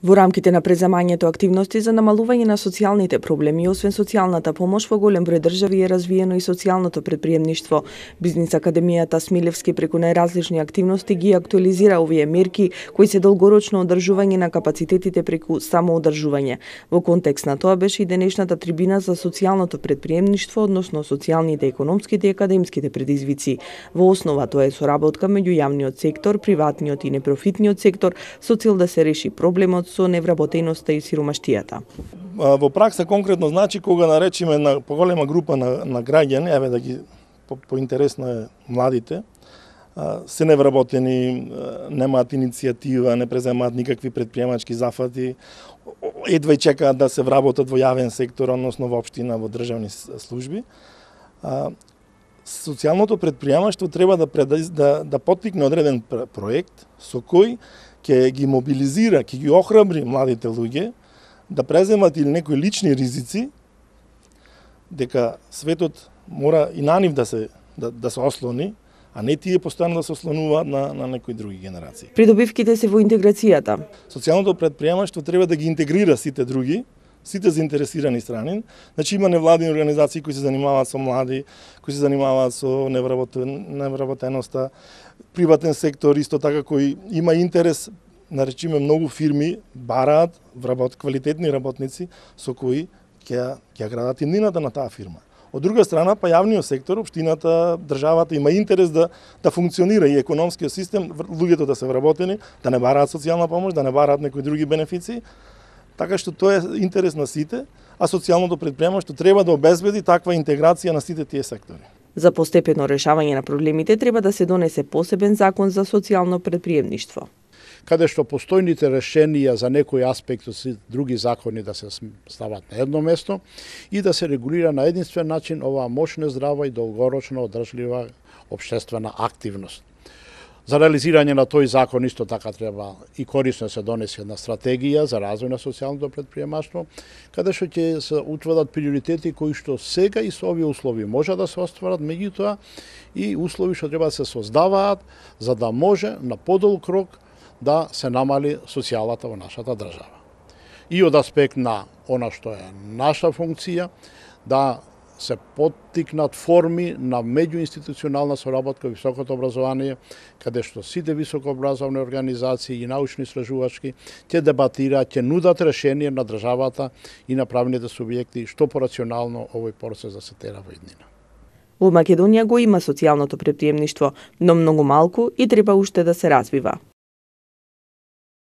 Во рамките на преземањето активности за намалување на социјалните проблеми, освен социјалната помош, во голем број држави е развиено и социјалното предприемништво. Бизнис академијата Смилевски преку најразлични активности ги актуализира овие мерки кои се долгорочно одржување на капацитетите преку самоодржување. Во контекст на тоа беше и денешната трибина за социјалното предприемништво, односно социјалните, економските и академските предизвици. Во основа тоа е соработка меѓу јавниот сектор, приватниот и непрофитниот сектор со цел да се реши проблемот со невработеноста и сиромаштијата. Во пракса конкретно значи кога наречиме на поголема група на граѓани, еве да ги поинтересно е младите, се невработени, немаат иницијатива, не преземаат никакви предприемачки зафати, едва и чекаат да се вработат во јавен сектор, односно во општина, во државни служби. Социјалното предприемаштво треба да поттикне одреден проект со кој ќе ги мобилизира, ќе ги охрабри младите луѓе да преземат или некои лични ризици, дека светот мора и на нив да се ослони, а не тие постојано да се ослонуваат на некои други генерации. Придобивките се во интеграцијата. Социјалното предприемаштво треба да ги интегрира сите други, сите заинтересирани страни. Значи има невладини организации кои се занимаваат со млади, кои се занимаваат со невработеноста, приватен сектор исто така кој има интерес, наречиме многу фирми бараат квалитетни работници со кои ќе градат иднината на таа фирма. Од друга страна, па јавниот сектор, општината, државата има интерес да функционира и економскиот систем, луѓето да се вработени, да не бараат социјална помош, да не бараат некои други бенефиции. Така што тоа е интерес на сите, а социјалното предприемаштво треба да обезбеди таква интеграција на сите тие сектори. За постепено решавање на проблемите треба да се донесе посебен закон за социјално предприемништво, каде што постојните решенија за некои аспекти од други закони да се стават на едно место и да се регулира на единствен начин оваа мощна, здрава и долгорочно одржлива општествена активност. За реализирање на тој закон исто така треба и корисно се донесе една стратегија за развој на социјалното предприемаштво, каде што ќе се утврдат приоритети кои што сега и со овие услови може да се остварат, меѓутоа и услови што треба да се создаваат за да може на подолг рок да се намали социјалата во нашата држава. И од аспект на она што е наша функција, да се поттикнат форми на меѓуинституционална соработка во високото образование, каде што сите високообразовни организации и научно-истражувачки ќе дебатираат, ќе нудат решение на државата и на правните субјекти што порационално овој процес да се тера во иднина. Во Македонија го има социјалното предприемништво, но многу малку и треба уште да се развива.